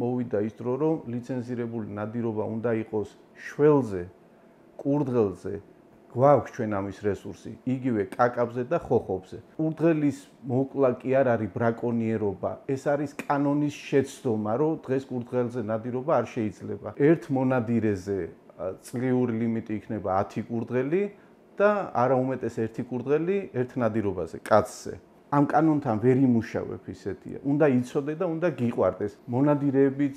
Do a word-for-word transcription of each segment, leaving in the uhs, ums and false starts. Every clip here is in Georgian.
მოვიდა ის დრო, რომ ლიცენზირებული ნადირობა უნდა იყოს შველზე, კურდღელზე, გვაქვს ჩვენ ამის რესურსი, იგივე კაკაბზე და ხოხობზე. კურდღელის მოკლა კი არ არის ბრაკონიერობა, ეს არის კანონის შეცდომა, რომ დღეს კურდღელზე ნადირობა არ შეიძლება. ერთ მონადირეზე წლიური ლიმიტი იქნება ათი კურდღელი და არაუმეტეს ერთი კურდღელი ერთ ნადირობაზე, კაცზე. ამ კანონთან ვერ იმუშავებ ისეთია. უნდა იცოდე და უნდა გიყვარდეს. მონადირეებიც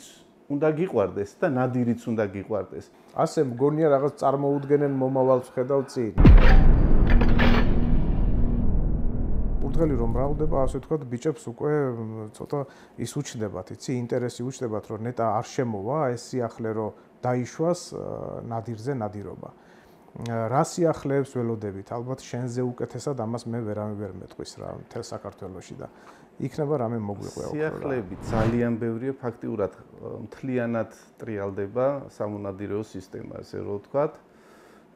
უნდა გიყვარდეს და ნადირიც უნდა გიყვარდეს. ასე მგონია რაღაც წარმოუდგენენ მომავალს ხედავ წინ. კურდღელი რომ მრავლდება, ასე ვთქვათ, ბიჭებს უკვე ცოტა ის უჩნდებათ, იცი, ინტერესი უჩნდებათ, რომ ნეტა არ შემოვა ეს სიახლე, რომ დაიშვას ნადირზე ნადირობა. რა სიახლეებს ველოდებით? ალბათ შენზე უკეთესად ამას მე ვერავინ ვერ მეტყვის რა, მთელ საქართველოში და იქნება რამე მოგვიყვება. სიახლეები ძალიან ბევრია, ფაქტიურად მთლიანად ტრიალდება სამონადირეო სისტემა, ასე რომ ვთქვათ.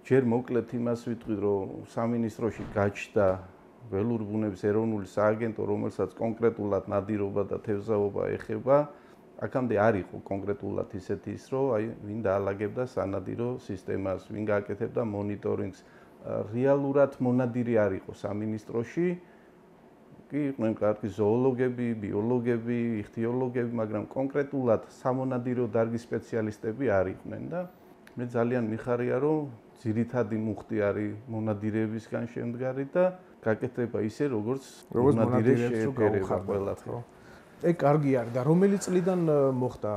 ჯერ მოკლედ იმას ვიტყვი, რომ სამინისტროში გაჩნდა ველური ბუნების ეროვნული სააგენტო, რომელსაც კონკრეტულად ნადირობა და თევზაობა ეხება. აქამდე არ იყო კონკრეტულად ისეთი ის, რომ აი ვინ დაალაგებდა სანადირო სისტემას, ვინ გააკეთებდა მონიტორინგს. რეალურად მონადირი არ იყო სამინისტროში. კი იყვნენ კარგი ზოოლოგები, ბიოლოგები, იხთიოლოგები, მაგრამ კონკრეტულად სამონადირო დარგის სპეციალისტები არ იყვნენ და მე ძალიან მიხარია, რომ ძირითადი მუხტი არის მონადირეებისგან შემდგარი და გაკეთება ისე, როგორც მონადირეებს შეეფერება ყველაფერი. ეგ კარგი არის და რომელი წლიდან მოხდა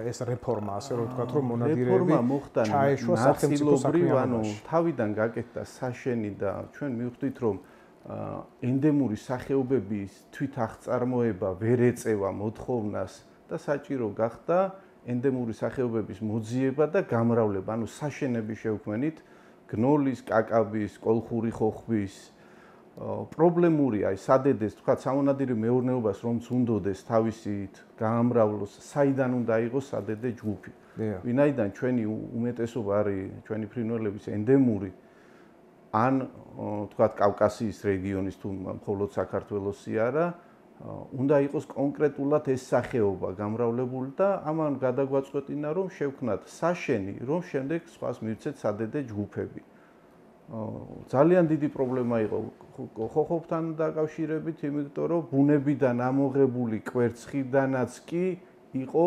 ეს რეფორმა, ასე რომ ვთქვათ, რომ მონადირეები ჩაეშვა სახელმწიფო საქმიანობაში. თავიდან გაკეთდა საშენი და ჩვენ მივხვდით, რომ ენდემური სახეობების თვითაღწარმოება ვერ ეწევა მოთხოვნას და საჭირო გახდა ენდემური სახეობების მოძიება და გამრავლება, ანუ საშენები შევქმნით გნოლის, კაკაბის, კოლხური ხოხბის. პრობლემური აი სადედეს, თქვა სამონადირო მეურნეობას რომც უნდოდეს თავისით გაამრავლოს, საიდან უნდა იყოს სადედე ჯგუფი. ვინაიდან ჩვენი უმეტესობა არის ჩვენი ფრინველების ენდემური ან თქვა კავკასიის რეგიონის თუ მხოლოდ საქართველოსი არა, უნდა იყოს კონკრეტულად ეს სახეობა გამრავლებული და ამან გადაგვაწყვეტინა, რომ შევქნათ საშენი, რომ შემდეგ სხვას მივცეთ სადედე ჯგუფები. ძალიან დიდი პრობლემა იყო ხოხობთან დაკავშირებით, იმიტომ რომ ბუნებიდან ამოღებული კვერცხიდანაც კი იყო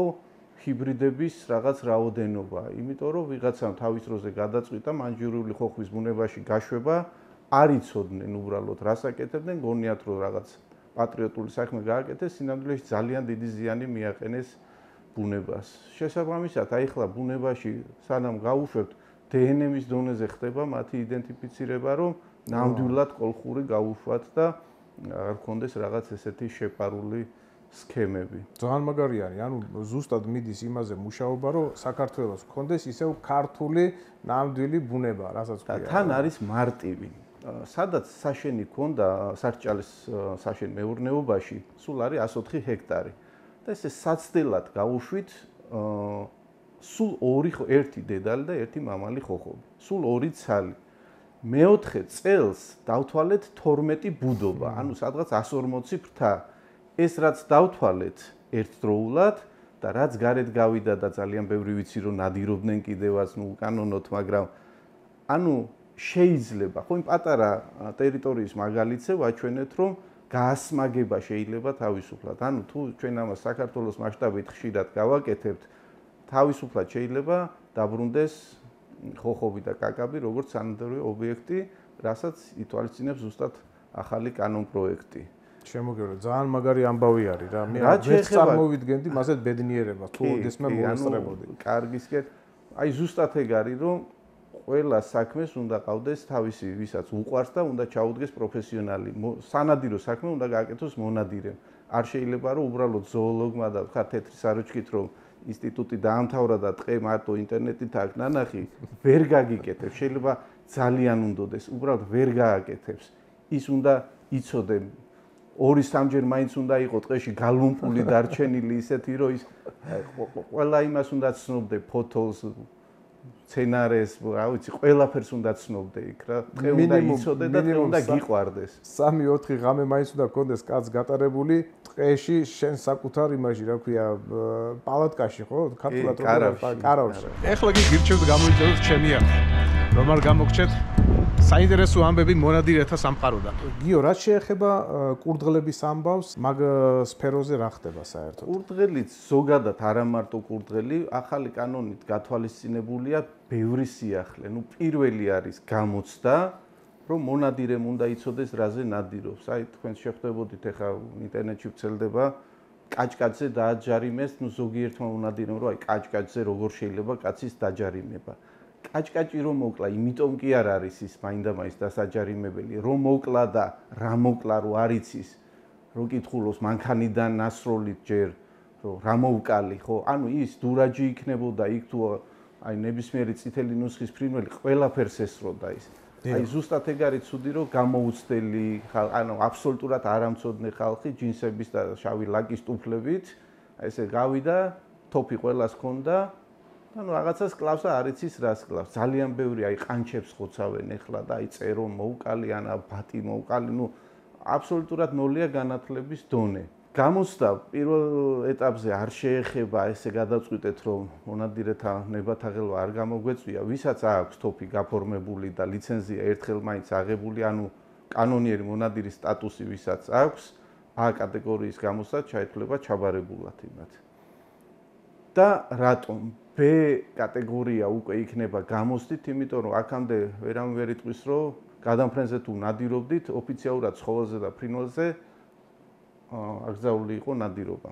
ჰიბრიდების რაღაც რაოდენობა, იმიტომ რომ ვიღაცამ თავის დროზე გადაწყვიტა მანჯურიული ხოხბის ბუნებაში გაშვება, არ იცოდნენ უბრალოდ რას აკეთებდნენ, გონიათ რომ რაღაც პატრიოტული საქმე გააკეთეს, სინამდვილეში ძალიან დიდი ზიანი მიაყენეს ბუნებას. შესაბამისად, აი ხლა ბუნებაში სანამ გავუშვებთ დე ენ ემის დონეზე ხდება მათი იდენტიფიცირება, რომ ნამდვილად კოლხური გავუშვათ და არ გქონდეს რაღაც ესეთი შეპარული სქემები. ძალიან მაგარი არის, ანუ ზუსტად მიდის იმაზე მუშაობა, რომ საქართველოს გქონდეს ისევ ქართული ნამდვილი ბუნება, რასაც ქვია. და თან არის მარტივი. სადაც საშენი ქონდა სარჭალის საშენ მეურნეობაში, სულ არის ასი ოთხი ჰექტარი. და ესე საცდელად გავუშვით სულ ორი ერთი დედალი და ერთი მამალი ხოხობი. სულ ორი ცალი. მეოთხე წელს დავთვალეთ თორმეტი ბუდობა, ანუ სადღაც ასი ორმოცი ფრთა. ეს რაც დავთვალეთ ერთდროულად და რაც გარეთ გავიდა და ძალიან ბევრი ვიცი რომ ნადირობდნენ კიდევაც, ნუ უკანონოდ, მაგრამ ანუ შეიძლება, ხო იმ პატარა ტერიტორიის მაგალითზე ვაჩვენეთ, რომ გაასმაგება შეიძლება თავისუფლად. ანუ თუ ჩვენ ამას საქართველოს მასშტაბით ხშირად გავაკეთებთ, თავისუფლად შეიძლება დაბრუნდეს ხოხობი და კაკაბი როგორც სანადირო ობიექტი, რასაც ითვალისწინებს ზუსტად ახალი კანონ პროექტი. შემოგევლო, ძალიან მაგარი ამბავი არის რა. მე ვერ წარმოვიდგენდი მასეთ ბედნიერებას, თუ ოდესმე მოვესწრებოდი. კარგისკენ, აი ზუსტად ეგ არის, რომ ყველა საქმეს უნდა ყავდეს თავისი, ვისაც უყვარს და უნდა ჩაუდგეს პროფესიონალი. სანადირო საქმე უნდა გააკეთოს მონადირემ. არ შეიძლება რომ უბრალოდ ზოოლოგმა და ხარ თეთრი საროჩქით რომ ინსტიტუტი დაამთავრა და ტყე მარტო ინტერნეტით აქვს ნანახი, ვერ გაგიკეთებს. შეიძლება ძალიან უნდოდეს, უბრალოდ ვერ გააკეთებს. ის უნდა იცოდე ორი სამჯერ მაინც უნდა იყო ტყეში გალუმპული დარჩენილი ისეთი, რომ ის ყველა იმას უნდა ცნობდე, ფოთოლს, სცენარეს, რა ვიცი, ყველაფერს უნდა ცნობდე იქ რა. დღე უნდა იცოდე და დღე უნდა გიყვარდეს. სამი ოთხი ღამე მაინც უნდა გქონდეს კაც გატარებული დღეში შენ საკუთარ იმაში, რა ქვია, პალატკაში, ხო? ქართულად რო კარავში. ეხლა კი გირჩევთ გამოიწევთ ჩემი ახლა. რომ არ გამოგჩეთ საინტერესო ამბები მონადირეთა სამყაროდან. გიო, რაც შეეხება კურდღლების ამბავს, მაგ სფეროზე რა ხდება საერთოდ? კურდღელიც ზოგადად არა მარტო კურდღელი, ახალი კანონით გათვალისწინებულია ბევრი სიახლე. ნუ პირველი არის გამოცდა, რომ მონადირემ უნდა იცოდეს რაზე ნადირობს. აი თქვენ შეხვდებოდით ახლა ინტერნეტში ვრცელდება კაჭკაჭზე დააჯარიმეს, ნუ ზოგიერთმა მონადირემ რომ აი კაჭკაჭზე როგორ შეიძლება კაცის დაჯარიმება. კაჭკაჭი რომ მოკლა, იმიტომ კი არ არის ის მაინდა-მაინც დასაჯარიმებელი, რომ მოკლა და რა მოკლა რო არ იცის, რო კითხულობს მანქანიდან ნასროლით ჯერ, რომ რა მოვკალი, ხო? ანუ ის დურაჯი იქნებოდა იქ თუ აი ნებისმიერი წითელი ნუსხის ფრინველი ყველაფერს ესროდა ის. აი ზუსტად ეგ არის ცუდი, რომ გამოუცდელი, ანუ აბსოლუტურად არამცოდნე ხალხი ჯინსების და შავი ლაკის ტუფლებით, აი ესე გავიდა, თოფი ყველას ჰქონდა. ანუ რაღაცას კლავს და არ იცის რას კლავს. ძალიან ბევრი აი ყანჩებს ხოცავენ ეხლა და აი წერონ მოუკალი ან ბატი მოუკალი, ნუ აბსოლუტურად ნოლია განათლების დონე. გამოცდა პირველ ეტაპზე არ შეეხება ესე გადაწყვიტეთ რომ მონადირეთა ნებათაღელვა არ გამოგვეწვია, ვისაც აქვს თოფი გაფორმებული და ლიცენზია ერთხელ მაინც აღებული, ანუ კანონიერი მონადირის სტატუსი ვისაც აქვს, A კატეგორიის გამოცდა ჩაითვლება ჩაბარებულად იმათ. და რატომ B კატეგორია უკვე იქნება გამოცდით, იმიტომ რომ აქამდე ვერავინ ვერ იტყვის, რომ გადამფრენზე თუ ნადირობდით, ოფიციალურად ცხოველზე და ფრინველზე აკრძალული იყო ნადირობა.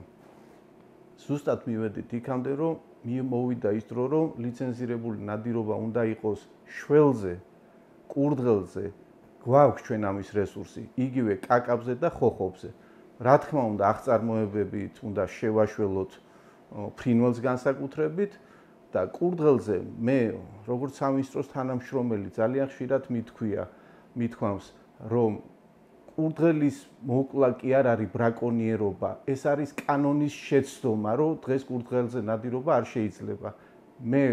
ზუსტად მივედით იქამდე, რომ მოვიდა ის დრო, რომ ლიცენზირებული ნადირობა უნდა იყოს შველზე, კურდღელზე, გვაქვს ჩვენ ამის რესურსი, იგივე კაკაბზე და ხოხობზე. რა თქმა უნდა, აღწარმოებებით უნდა შევაშველოთ ფრინველს განსაკუთრებით და კურდღელზე მე როგორც სამინისტროს თანამშრომელი ძალიან ხშირად მithქვია, მithქვამს, რომ კურდღელის მოკლა კი არ არის ბრაკონიერობა, ეს არის კანონის შეცდომა, რომ დღეს კურდღელზე ნადირობა არ შეიძლება. მე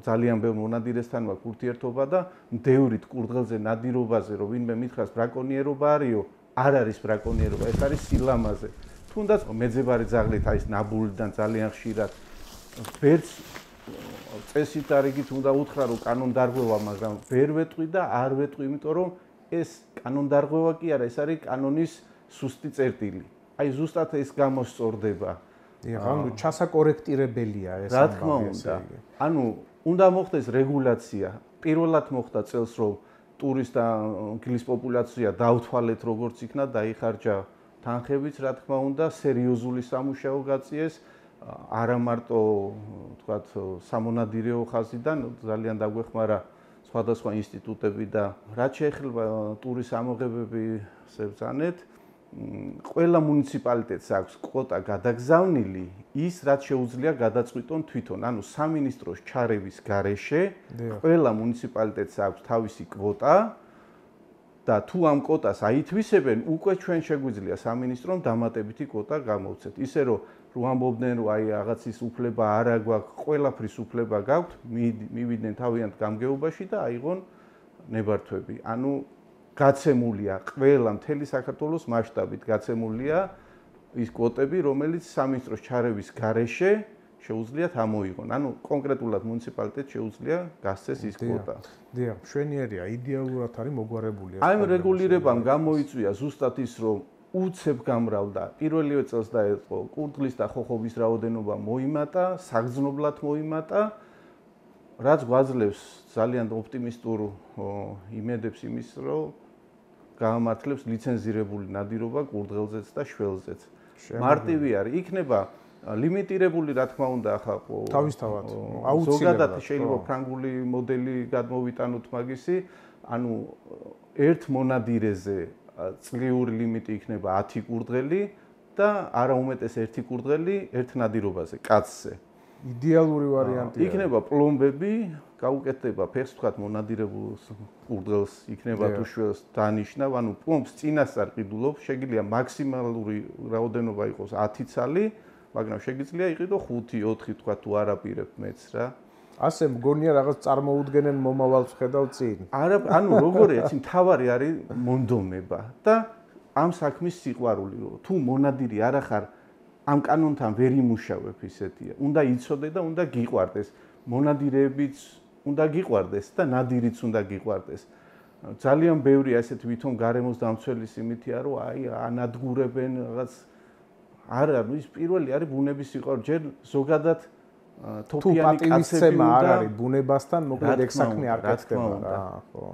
ძალიან ბევრ მონადირესთან მაქვს ურთიერთობა და მდევრით კურდღელზე ნადირობაზე, რომ ვინმე მითხრას ბრაკონიერობა არისო, არ არის ბრაკონიერობა, ეს არის სილამაზე. თუნდაც მეძებარი ძაღლით არის ნაბულიდან ძალიან ხშირად ვერც წესით არიგით უნდა უთხრა რომ კანონდარღვევა, მაგრამ ვერ ვეტყვი და არ ვეტყვი, იმიტომ რომ ეს კანონდარღვევა კი არა, ეს არის კანონის სუსტი წერტილი. აი ზუსტად ეს გამოსწორდება. ანუ ჩასაკორექტირებელია ეს რა თქმა უნდა. ანუ უნდა მოხდეს რეგულაცია. პირველად მოხდა წელს რომ ტურის და გილის პოპულაცია დაუთვალეთ როგორც იქნა, დაიხარჯა თანხებიც, რა თქმა უნდა, სერიოზული სამუშაო გაწიეს, არა მარტო, თქვათ, სამონადირეო ხაზიდან, ძალიან დაგვეხმარა სხვადასხვა ინსტიტუტები და რაც შეეხება ტურის ამოღებების ბრძანეთ, ყველა მუნიციპალიტეტს აქვს კვოტა გადაგზავნილი, ის რაც შეუძლია გადაწყვიტონ თვითონ, ანუ სამინისტროს ჩარევის გარეშე ყველა მუნიციპალიტეტს აქვს თავისი კვოტა და თუ ამ კვოტას აითვისებენ, უკვე ჩვენ შეგვიძლია სამინისტრომ დამატებითი კვოტა გამოვცეთ. ისე რომ რო ამბობდნენ რომ აი რაღაცის უფლება არ აგვაქვს, ყველაფრის უფლება გაქვთ, მივიდნენ თავიანთ გამგეობაში და აიღონ ნებართვები. ანუ გაცემულია ყველა მთელი საქართველოს მასშტაბით გაცემულია ის კვოტები, რომელიც სამინისტროს ჩარევის გარეშე შეუძლიათ ამოიღონ. ანუ კონკრეტულად მუნიციპალიტეტს შეუძლია გასცეს ის კვოტა. დიახ, მშვენიერია, იდეალურად არის მოგვარებული ეს. აი ამ რეგულირებამ გამოიწვია ზუსტად ის, რომ უცებ გამრავლდა. პირველივე წელს დაეწყო კურდღლის და ხოხობის რაოდენობა მოიმატა, საგრძნობლად მოიმატა, რაც გვაძლევს ძალიან ოპტიმისტურ იმედებს იმის, რომ გაამართლებს ლიცენზირებული ნადირობა კურდღელზეც და შველზეც. მარტივი არის, იქნება ლიმიტირებული, რა თქმა უნდა, ახლა თავისთავად ზოგადად შეიძლება ფრანგული მოდელი გადმოვიტანოთ მაგისი, ანუ ერთ მონადირეზე წლიური ლიმიტი იქნება ათი კურდღელი და არა უმეტეს ერთი კურდღელი ერთ ნადირობაზე, კაცზე. იდეალური ვარიანტია. იქნება პლომბები, გაუკეთდება ფეხს, თქვათ, მონადირებულს კურდღელს იქნება თუ შველს დანიშნავ, ანუ პლომბს წინასწარ ყიდულობ, შეგიძლია მაქსიმალური რაოდენობა იყოს ათი ცალი, მაგრამ შეგიძლია იყიდო ხუთი, ოთხი, თქვათ, თუ არაპირებ მეც რა. ასე მგონია რაღაც წარმოუდგენენ მომავალს ხედავ წინ. არა, ანუ როგორია, იცი მთავარი არის მონდომება და ამ საქმის სიყვარული, რომ თუ მონადირი არ ახარ ამ კანონთან ვერ იმუშავებ ისეთია. უნდა იცოდე და უნდა გიყვარდეს. მონადირეებიც უნდა გიყვარდეს და ნადირიც უნდა გიყვარდეს. ძალიან ბევრი ასეთი ვითომ გარემოს დამცველის იმითია, რომ აი ანადგურებენ რაღაც არა, ну ის პირველი არის ბუნების სიყვარული. ჯერ ზოგადად თოფიანი კაცები უნდა არ არის ბუნებასთან, მოკლედ ეგ საქმე არ გახდება რა, ხო.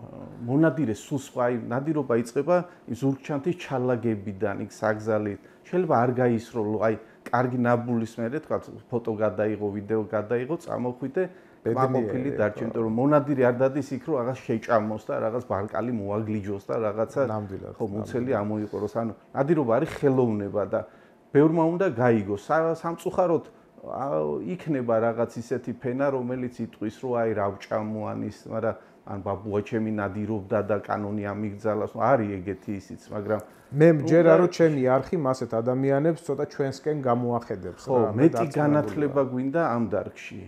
მონადირეს სულ სხვა, აი ნადირობა იწყება იმ ზურგჩანთის ჩალაგებიდან, იქ საგზალით. შეიძლება არ გაისროლო, აი კარგი ნაბულის მერე თქვა ფოტო გადაიღო, ვიდეო გადაიღო, წამოხვიდე მაყოფილი დარჩა, იმიტომ რომ მონადირი არ დადის იქ, რომ რაღაც შეჭამოს და რაღაც ბარკალი მოაგლიჯოს და რაღაცა ხო მუცელი ამოიყოროს. ანუ ნადირობა არის ხელოვნება და ბევრმა უნდა გაიგოს. სამწუხაროდ იქნება რაღაც ისეთი ფენა, რომელიც იტყვის, რომ აი რა ვჭამო ანის, მაგრამ ან ბაბუა ჩემი ნადირობდა და კანონი ამიგზავნას. არის ეგეთი ისიც, მაგრამ მე მჯერა რომ ჩემი არხი მასეთ ადამიანებს ცოტა ჩვენსკენ გამოახედებს რა. ხო, მეტი განათლება გვინდა ამ დარგში.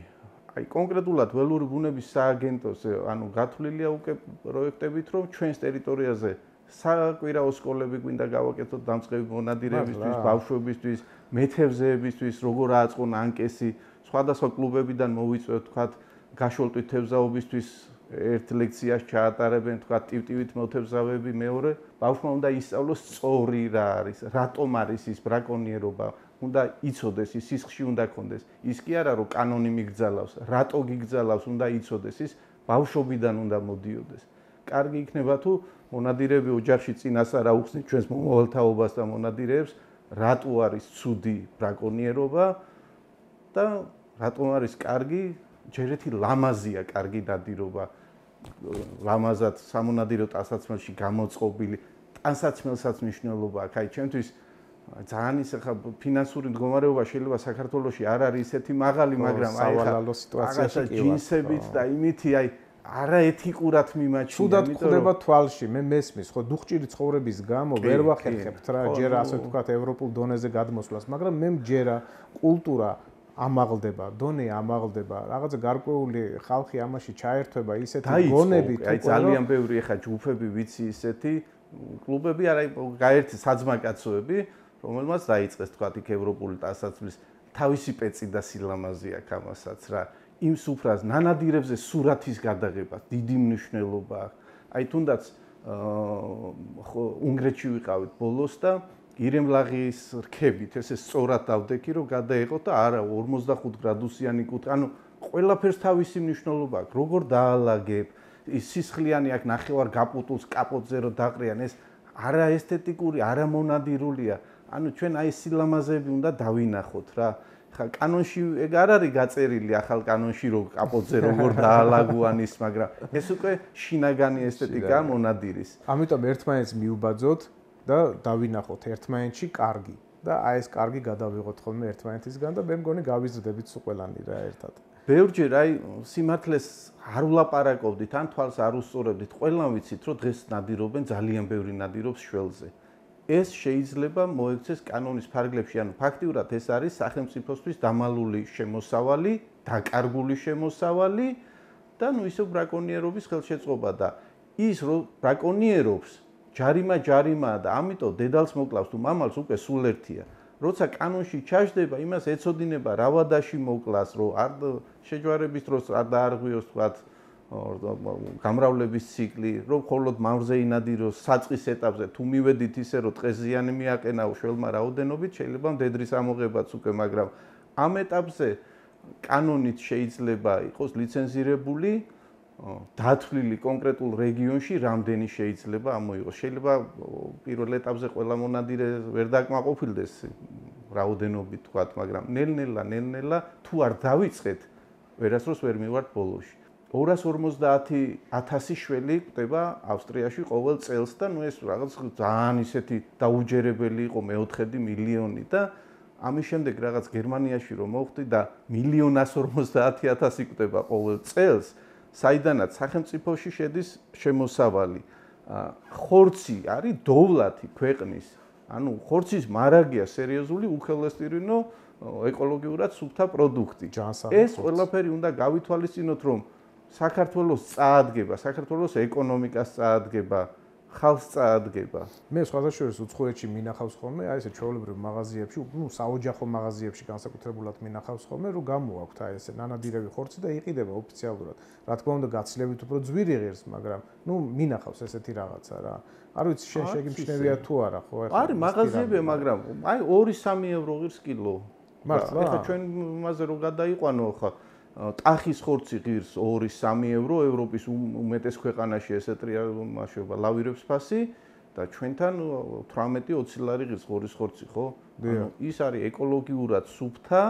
აი კონკრეტულად ველური ბუნების სააგენტოს ანუ გათვლილია უკვე პროექტებით, რომ ჩვენს ტერიტორიაზე საკვირაო სკოლები გვინდა გავაკეთოთ დამწყები მონადირეებისთვის, ბავშვებისთვის, მეთევზეებისთვის, როგორ ააწყონ ანკესი, სხვადასხვა კლუბებიდან მოვიწვევთ, თქვათ, გაშოლტვით თევზაობისთვის ერთ ლექციას ჩაატარებენ, თქვათ, ტივტივით მოთევზავები, მეორე, ბავშვმა უნდა ისწავლოს სწორი რა არის, რატომ არის ის ბრაკონიერობა, უნდა იცოდეს, ის სისხლში უნდა ქონდეს. ის კი არა, რომ კანონი მიგზალავს, რატო გიგზალავს, უნდა იცოდეს, ის ბავშვობიდან უნდა მოდიოდეს. კარგი იქნება თუ მონადირეები ოჯახში წინას არა უხსნით ჩვენს მომავალთაობას და მონადირეებს, რატო არის ცუდი ბრაკონიერობა და რატომ არის კარგი, ჯერ ერთი ლამაზია კარგი ნადირობა. ლამაზად სამონადირო ტანსაცმელში გამოწყობილი, ტანსაცმელსაც მნიშვნელობა აქვს. აი ჩემთვის ძალიან ის ახლა ფინანსური მდგომარეობა შეიძლება საქართველოში არ არის ისეთი მაღალი, მაგრამ აი სავალალო სიტუაციაში კი ვარ. ჯინსებით და იმითი აი არაეთიკურად მიმაჩნია. ცუდად ხვდება თვალში, მე მესმის, ხო, დუხჭირი ცხოვრების გამო ვერ ვახერხებთ რა, ჯერ ასე ვთქვათ ევროპულ დონეზე გადმოსვლას, მაგრამ მე მჯერა კულტურა ამაღლდება, დონე ამაღლდება, რაღაცა გარკვეული ხალხი ამაში ჩაერთვება ისეთი გონებით, აი ძალიან ბევრი ახლა ჯგუფები ვიცი ისეთი კლუბები, არა გაერთი საძმაკაცოები, რომელმაც დაიწყეს თქვათ იქ ევროპული ტანსაცმლის თავისი პეცი და სილამაზე აქვს ამასაც რა. იმ სუფრას ნანადირებზე სურათის გადაღება დიდი მნიშვნელობა აქვს. აი თუნდაც ხო უნგრეთში ვიყავით ბოლოს და ირემლაღის რქებით ესე სწორად დავდექი რომ გადაეყოთ და არა ორმოცდახუთ გრადუსიანი კუთხე. ანუ ყველაფერს თავისი მნიშვნელობა აქვს. როგორ დაალაგებ, ის სისხლიანი აქ ნახევარ გაპუტულს კაპოტზე რო დაყრიან, ეს არა ესთეტიკური, არა მონადირულია. ანუ ჩვენ აი სილამაზეები უნდა დავინახოთ რა. ხა კანონში ეგ არ არის გაწერილი ახალ კანონში რომ კაპოტზე როგორ დაალაგო ანის, მაგრამ ეს უკვე შინაგანი ესთეტიკაა მონადირის. ამიტომ ერთმანეთს მიუბაძოთ და დავინახოთ ერთმანეთში კარგი და აი ეს კარგი გადავიღოთ ხოლმე ერთმანეთისგან და მე მგონი გავიზრდებით სულ ყველანი რა ერთად. ბევრჯერ აი სიმართლეს არ ვლაპარაკობდით, ან თვალს არ უსწორებდით, ყველამ ვიცით რომ დღეს ნადირობენ ძალიან ბევრი ნადირობს შველზე. ეს შეიძლება მოექცეს კანონის ფარგლებში, ანუ ფაქტიურად ეს არის სახელმწიფოსთვის დამალული შემოსავალი, დაკარგული შემოსავალი და ნუ ისევ ბრაკონიერობის ხელშეწყობა და ის რომ ბრაკონიერობს ჯარიმა ჯარიმაა და ამიტომ დედალს მოკლავს თუ მამალს უკვე სულ ერთია. როცა კანონში ჩაждდება, იმას ეცოდინება რავადაში მოკლას, რომ არ შეჯვარების დროს არ დაარღვიოს თქვათ გამრავლების ციკლი, რომ მხოლოდ მამრზე ინადიროს საწყის ეტაპზე, თუ მივედით ისე რომ ტყეზიანი მიაყენაო შველმა რაოდენობით, შეიძლება მდედრის ამოღებაც უკვე, მაგრამ ამ ეტაპზე კანონით შეიძლება იყოს ლიცენზირებული, დათვლილი კონკრეტულ რეგიონში რამდენი შეიძლება ამოიღოს. შეიძლება პირველ ეტაპზე ყველა მონადირე ვერ დაკმაყოფილდეს რაოდენობით თქვათ, მაგრამ ნელ-ნელა, ნელ-ნელა თუ არ დავიწყეთ, ვერასდროს ვერ მივართ ბოლოში. ორას ორმოცდაათი ათასი შველი ხდება ავსტრიაში ყოველ წელს და ნუ ეს რაღაც ძალიან ისეთი დაუჯერებელი იყო მეოთხედი მილიონი და ამის შემდეგ რაღაც გერმანიაში რომ მოხდი და მილიონას ორმოცდაათი ათასი ხდება ყოველ წელს, საიდანაც სახელმწიფოში შედის შემოსავალი. ხორცი არის დოვლათი ქვეყნის. ანუ ხორცის მარაგია სერიოზული უქელესტირინო ეკოლოგიურად სუფთა პროდუქტი. ჯანსაღი ეს ყველაფერი უნდა გავითვალისწინოთ, რომ საქართველოს წაადგება, საქართველოს ეკონომიკას წაადგება, ხალხს წაადგება. მე სხვადასხვა უცხოეთში მინახავს ხოლმე, აი ესე ჩვეულებრივ მაღაზიებში, ნუ საოჯახო მაღაზიებში განსაკუთრებულად მინახავს ხოლმე, რომ გამოაქვთ აი ესე ნანადირები ხორცი და იყიდება ოფიციალურად. რა თქმა უნდა, გაცილებით უფრო ძვირი ღირს, მაგრამ ნუ მინახავს ესეთი რაღაცა რა. არ ვიცი, შენ შეგიმჩნევია თუ არა, ხო? არის მაღაზიებია, მაგრამ აი ორი სამი ევრო ღირს კილო. მართლა? ეხლა ჩვენ იმაზე რო გადაიყვანო ხა ტახის ხორცი ღირს ორი სამი ევრო, ევროპის უმეტეს ქვეყანაში ესეტრია მაშობა ლავირებს ფასი და ჩვენთან თვრამეტი ოცი ლარი ღირს ღორის ხორცი, ხო? ანუ ის არის ეკოლოგიურად სუფთა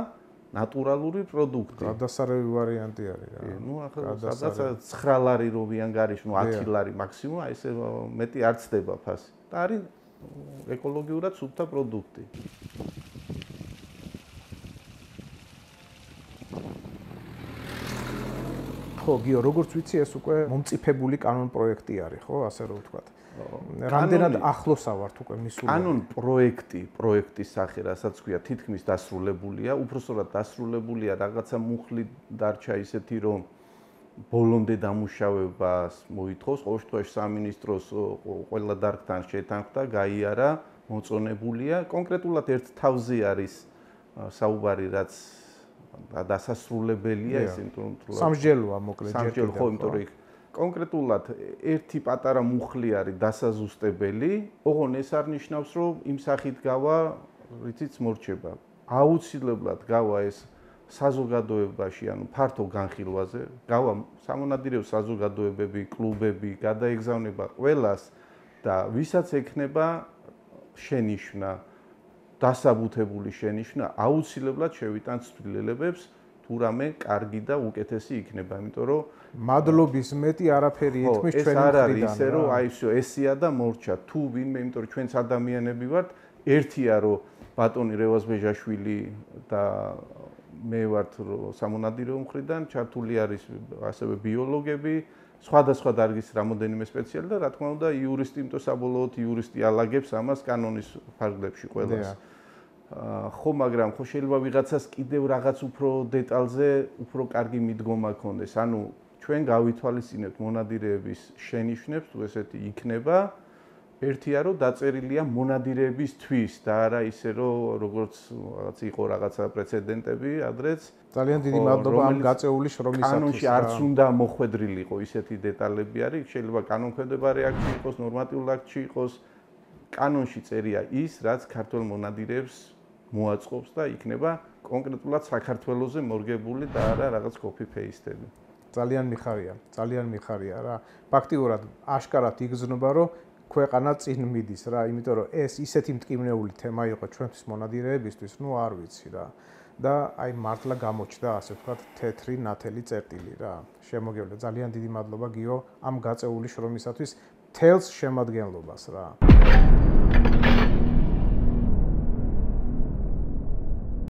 ნატურალური პროდუქტი. გადასარევი ვარიანტი არის რა. ნუ ახლა სადაც ცხრა ლარი რო ვიანგარიშ, ნუ ათი ლარი მაქსიმუმ, აი ესე მეტი არ ცდება ფასი. და არის ეკოლოგიურად სუფთა პროდუქტი. ხო, გიო, როგორც ვიცი, ეს უკვე მომწიფებული კანონ პროექტი არის, ხო, ასე რომ ვთქვათ. რამდენად ახლოსა ვართ უკვე მისული? კანონ პროექტი, პროექტის სახე, რასაც ქვია, თითქმის დასრულებულია, უпроსტად დასრულებულია, რაღაცა მუხლი დარჩა ისეთი, რომ ბოლომდე დამუშავებას მოითხოვს, ყოველ შემთხვევაში სამინისტროს ყველა დარგთან შეთანხმდა, გაიარა, მოწონებულია. კონკრეტულად ერთ თავზე არის საუბარი, რაც დასასრულებელია, ეს იმიტომ რომ სამსჯელოა მოკლედ. სამსჯელო, ხო, იმიტომ რომ კონკრეტულად ერთი პატარა მუხლი არის დასაზუსტებელი, ოღონ ეს არ ნიშნავს, რომ იმ სახით გავა, რითიც მორჩება. აუცილებლად გავა ეს საზოგადოებაში, ანუ ფართო განხილვაზე, გავა სამონადირეო საზოგადოებები, კლუბები, გადაეგზავნება ყველას და ვისაც ექნება შენიშვნა, დასაბუთებული შენიშვნა, აუცილებლად შევიტანთ ცვლილებებს, თუ რამე კარგი და უკეთესი იქნება, იმიტომ რომ მადლობის მეტი არაფერი ითქმის ჩვენი მხრიდან. ეს არ არის ისე, რომ აი всё ესია და მორჩა. თუ ვინმე, იმიტომ რომ ჩვენც ადამიანები ვართ, ერთია რომ ბატონი რევაზ ბეჟაშვილი და მე ვართ სამონადირეო მხრიდან, ჩართული არის ასევე ბიოლოგები, სხვადასხვა დარგის რამოდენიმე სპეციალი და რა თქმა უნდა იურისტი, იმიტომ საბოლოოდ იურისტი ალაგებს ამას კანონის ფარგლებში ყველას. ხო, მაგრამ ხო შეიძლება ვიღაცას კიდევ რაღაც უფრო დეტალზე უფრო კარგი მიდგომა ქონდეს. ანუ ჩვენ გავითვალისწინებთ მონადირეების შენიშვნებს, თუ ესეთი იქნება. ერთია რომ დაწერილია მონადირეებისთვის და არა ისე რომ როგორც რაღაც იყო რაღაცა პრეცედენტები ადრეც. ძალიან დიდი მადლობა ამ გაწეული შრომისათვის. კანონში არც უნდა მოხვედრილიყო ისეთი დეტალები არის, შეიძლება კანონქვემდებარე აქტში იყოს, ნორმატიულ აქტში იყოს. კანონში წერია ის, რაც ქართულ მონადირეებს მოაწყობს და იქნება კონკრეტულად საქართველოზე მორგებული და არა რაღაც copy-paste-ები. ძალიან მიხარია, ძალიან მიხარია რა. ფაქტიურად აშკარად იგრძნობა, რომ ქვეყანა წინ მიდის რა, იმიტომ რომ ეს ისეთი მტკივნეული თემა იყო ჩვენთვის მონადირეებისთვის, ნუ არ ვიცი რა. და აი მართლა გამოჩნდა, ასე ვთქვათ, თეთრი ნათელი წერტილი რა. შემოგევლე, ძალიან დიდი მადლობა გიო ამ გაწეული შრომისათვის, თელს შემადგენლობას რა.